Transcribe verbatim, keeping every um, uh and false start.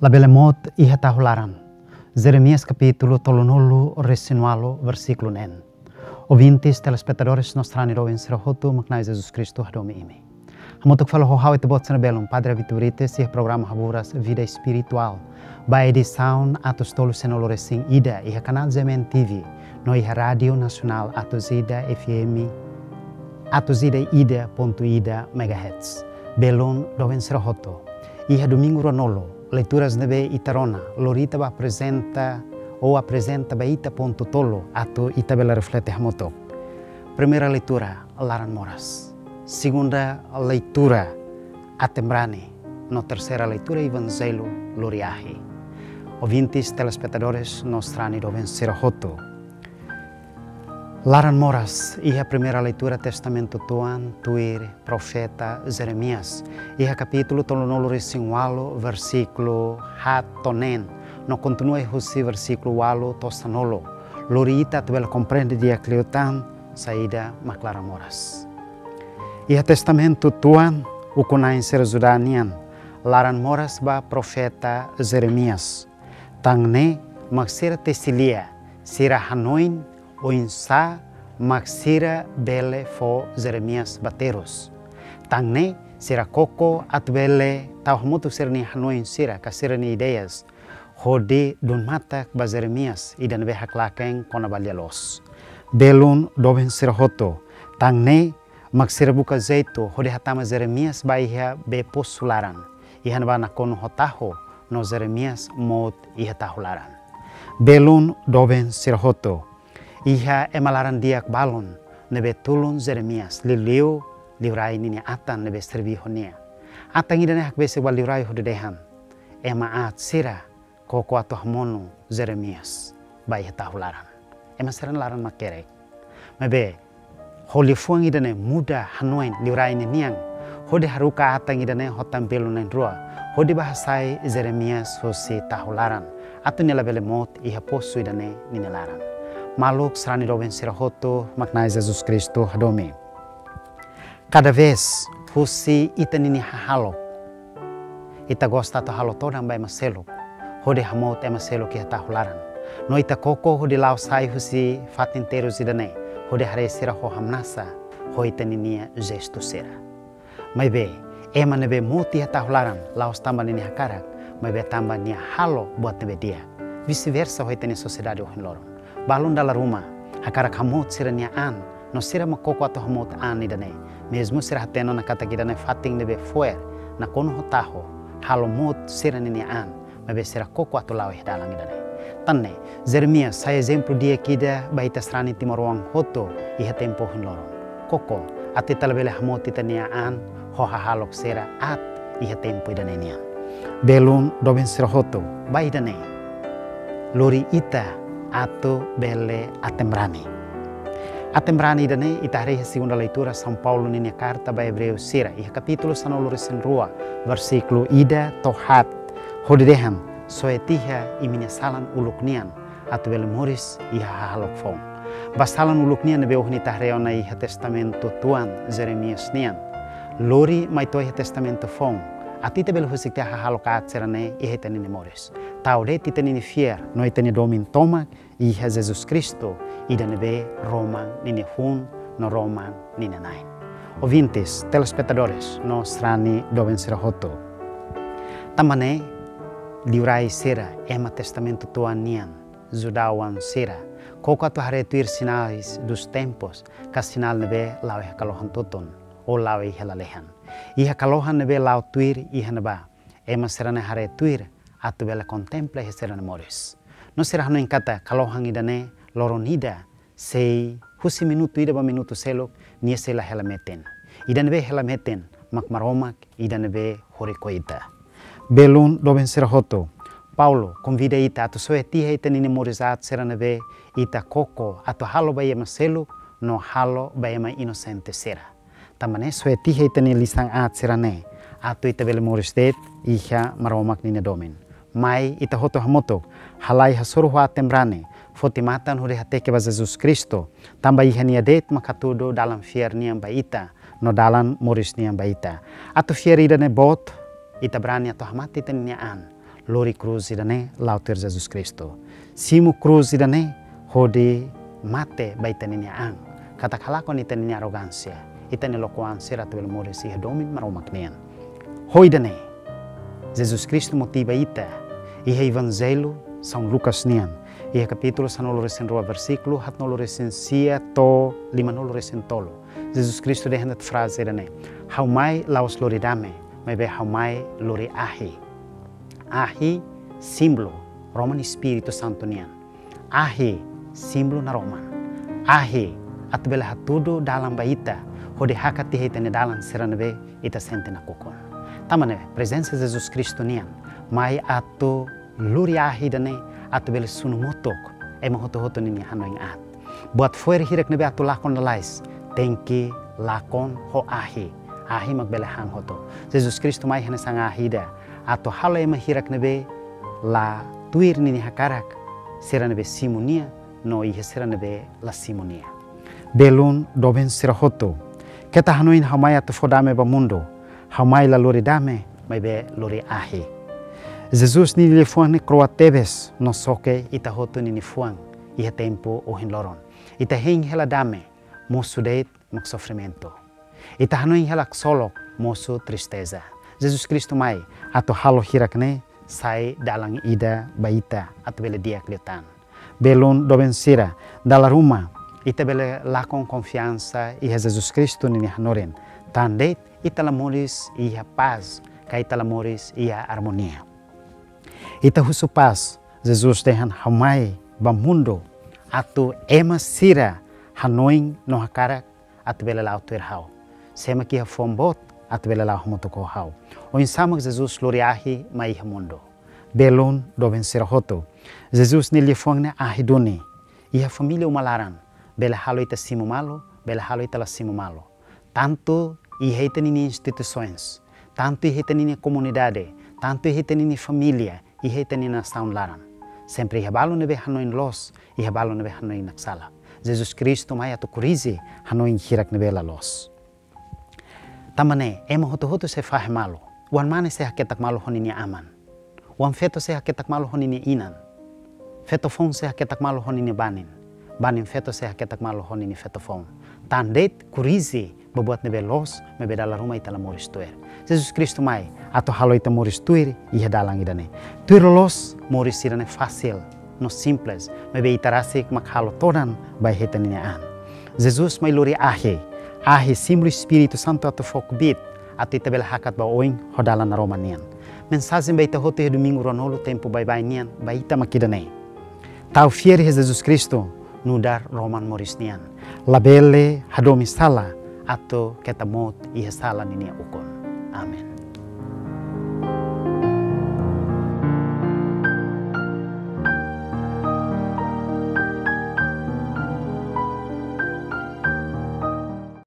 Labele mout iha tahu laran. Jeremias kapítulu tolunulu-resin-ualu, versíkulu neen. Ouvintes, telespetadores, no sarani doben sira hotu, mak Na'i Jesus Kristu hadomi imi. Hamutuk fali ho ha'u, ita-boot sira belun, Padre Vitor Brites, iha programa Haburas Vida Espiritual, ba edisaun atus tolu sanulu-resin-ida, iha kanál G M N T V, no iha Rádiu Nasionál atus ida F M, atus ida ida pontu ida megahertz. Belun doben sira hotu. Iha domingu ruanulu, leituras ne'ebé ita rona, lori ita ba aprezenta, ou aprezenta ba ita pontu tolu, atu ita bele reflete hamutuk. Primeira leitura, laran moras. Segunda leitura, aten-brani. No terseira leitura, Evanjellu lori ahi. Ouvintes, telespetadores, no sarani doben sira hotu. Laran moras, iha primeira leitura Testamentu Tuan, tuir profeta Jeremias. Iha kapítulu tolunulu-resin-ualu, versíkulu haat to'o neen, no kontinua husi versíkulu ualu to'o sanulu. Lori ita atu bele komprende di'ak liután saida mak laran moras. Iha Testamentu Tuan, ukun-na'in sira Judá nian, laran moras ba profeta Jeremias. Tan ne'e mak sira tesi lia, sira hanoin oinsá mak sira bele fó Jeremias ba terus. Tan ne'e sira koko atu bele tau hamutuk sira-nia hanoin sira, ka sira-nia ideias, hodi dun matak ba Jeremias, ida ne'ebé haklaken kona-ba lia-loos. Belun doben sira hotu. Tan ne'e mak sira buka jeitu hodi hatama Jeremias ba iha bee posu laran. Iha ne'ebá nakonu ho tahu, no Jeremias mout iha tahu laran. Belun doben sira hotu. Iha ema laran-di'ak balun ne'ebé tulun Jeremias, liuliu liurai ninia atan ne'ebé serví ho nia. Atan ida-ne'e hakbesik ba liurai hodi dehan: Ema aat sira koko atu hamonu Jeremias ba iha tahu laran. Ema sira-nia laran makerek. Maibé, ho liafuan ida-ne'e muda hanoin liurai ninian, hodi haruka atan ida-ne'e ho tan belun na'in-rua, hodi bá hasai Jeremias husi tahu laran, atu nia labele mout iha posu ida-ne'e ninia laran. Maluk sarani doben sira hotu, mak Na'i Jesus Kristu hadomi. Kada vez husi ita ninia hahalok, ita gosta atu halo todan ba ema seluk, hodi hamout ema seluk iha tahu laran. No ita koko hodi la'o sai husi fatin terus ida-ne'e, hodi haree sira ho hamnasa ho ita ninia jestu sira. Maibé, ema ne'ebé mout iha tahu laran, la'ós tanba ninia hakarak, maibé tanba nia halo buat ne'ebé di'ak. Vice-versa ho ita-nia sosiedade ohin loron. Balun dala ruma hakarak hamout sira-nia an, no sira mak koko atu hamout an ida-ne'e. Mezmu sira hatene ona katak ida-ne'e fatin ne'ebé fo'er, nakonu ho tahu, halo mout sira-nia an, maibé sira koko atu la'o iha dalan ida-ne'e. Tan ne'e, Jeremias sai ezemplu di'ak ida ba ita sarani timoroan hotu iha tempu ohin loron. Koko atu ita labele hamout ita-nia an ho hahalok sira aat iha tempu ida-ne'e nian. Belun doben sira hotu, ba ida-ne'e, lori ita atu bele aten-brani. Aten-brani ida-ne'e ita haree iha segunda leitura São Paulo ninia karta ba Ebreu sira, iha kapítulu sanulu-resin-rua, versíkulu ida to'o haat, hodi dehan: Soe tiha imi-nia salan uluk nian, atu bele moris iha hahalok foun. Ba salan uluk nian ne'ebé ohin ita haree ona iha Testamentu Tuan Jeremias nian, lori mai to'o iha Testamentu Foun, atu ita bele husik tiha hahalok aat sira-ne'e iha ita-nia moris. Tau de'it ita-nia fiar no ita-nia domin tomak iha Jesus Kristu, ida ne'ebé roman ninia hun no roman ninia na'in. Ouvintes, telespetadores, no sarani doben sira hotu. Tanba ne'e, liurai sira, ema Testamentu Tuan nian, judaun sira, koko atu haree tuir sinais dos tempos, ka sinál ne'ebé la'o iha kalohan tutun, ou la'o iha lalehan. Iha kalohan ne'ebé la'o tuir iha ne'ebá, ema sira-ne'e haree tuir atu bele kontempla iha sira-nia moris. No sira hanoin katak kalohan ida-ne'e loron ida sei, husi minutu ida ba minutu seluk, nia sei la hela metin. Ida ne'ebé hela metin mak Maromak, ida ne'ebé horik ho ita. Belun doben sira hotu, Paulo konvida ita atu soe tiha ita-nia moris aat sira ne'ebé ita koko atu halo ba ema seluk no halo ba ema inosente sira. Tanba ne'e soe tiha ita-nia lisan aat sira-ne'e, atu ita bele moris de'it iha Maromak ninia domin. Mai ita hotu hamutuk halai hasoru ho aten-brani, foti matan hodi hateke ba Jesus Kristu, tanba iha nia de'it mak hatudu dalan fiar nian ba ita, no dalan moris nian ba ita. Atu fiar ida-ne'e boot, ita brani atu hamate ita-nia an, lori krús ida-ne'e la'o tuir Jesus Kristu. Simu krús ida-ne'e hodi mate ba ita-nia an. Katak halakon ita-nia arrogánsia, ita-nia lokuan sira atu bele moris iha domin Maromak nian. Ho ida-ne'e, Jesus Kristu motiva ita iha Evanjellu São Lucas nian, iha kapítulu sanulu-resin-rua, versíkulu haatnulu-resin-sia to'o limanulu-resin-tolu. Jesus Kristu dehan de'it fraze ida-ne'e: Ha'u mai la'ós lori dame, maibé Ha'u mai lori ahi. Ahi símbolu Roman Espíritu Santu nian. Ahi símbolu naroman. Ahi atu bele hatudu dalan ba ita, hodi hakat tiha ita-nia dalan sira ne'ebé ita sente nakukun. Tanba ne'e, prezensa Jesus Kristu nian mai atu lori ahi ida-ne'e atu bele sunu motuk ema hotu-hotu ninia hanoin aat. Buat fo'er hirak ne'ebé atu lakon lalais, tenke lakon ho ahi. Ahi mak bele han hotu. Jesus Kristu mai hanesan ahi ida atu halo ema hirak ne'ebé la tuir ninia hakarak, sira ne'ebé simu nia, no iha sira ne'ebé la simu nia. Belun doben sira hotu, keta hanoin ha'u mai atu fó dame ba mundu. Ha'u mai la lori dame, maibé lori ahi. Jesus nia liafuan ne'e kro'at tebes no xoke ita hotu ninia fuan iha tempu ohin loron. Ita hein hela dame, mosu de'it mak sofrimentu. Ita hanoin hela ksolok, mosu tristeza. Jesus Kristu mai atu halo hirak ne'e sai dalan ida ba ita atu bele di'ak liután. Belun doben sira, dala ruma ita bele lakon konfiansa iha Jesus Kristu ninia hanorin. Tan de'it ita la moris iha pás, ka ita la moris iha armonia. Ita husu pás, Jesus dehan: Ha'u mai ba mundu atu ema sira hanoin no hakarak atu bele la'o tuir ha'u. Sé mak iha fuan boot atu bele la'o hamutuk ho ha'u. Oinsá mak Jesus lori ahi mai iha mundu. Belun doben sira hotu, Jesus nia liafuan ne'e ahi duni. Iha família uma laran, bele halo ita simu malu, bele halo ita la simu malu. Tantu iha ita-nia instituisoens, tantu iha ita-nia komunidade, tantu iha ita-nia família, iha ita-nia nasaun laran, sempre iha balu ne'ebé hanoin loos, iha balu ne'ebé hanoin naksalak. Jesus Kristu mai atu korrije hanoin hirak ne'ebé la loos. Tanba ne'e, ema hotu-hotu sei fahe malu. Oan-mane sei haketak malu ho ninia aman. Oan-feto sei haketak malu ho ninia inan. Feto-foun sei haketak malu ho ninia banin. Banin-feto sei haketak malu ho ninia feto-foun. Tan de'it korrije ba buat ne'ebé loos, maibé dala ruma ita la moris tuir. Jesus Kristu mai atu halo ita moris tuir iha dalan ida-ne'e. Tuir loloos, moris ida-ne'e fasil no simples, maibé ita rasik mak halo todan ba ita-nia an. Jesus mai lori ahi. Ahi símbolu Espíritu Santu atu fó kbiit atu ita bele hakat ba oin ho dalan naroman nian. Mensajen ba ita hotu iha Domingu Ruanulu tempu baibain nian ba ita mak ida-ne'e: Tau fiar iha Jesus Kristu nu'udar roman moris nian. Labele hadomi sala atu keta mout iha sala ninia ukun.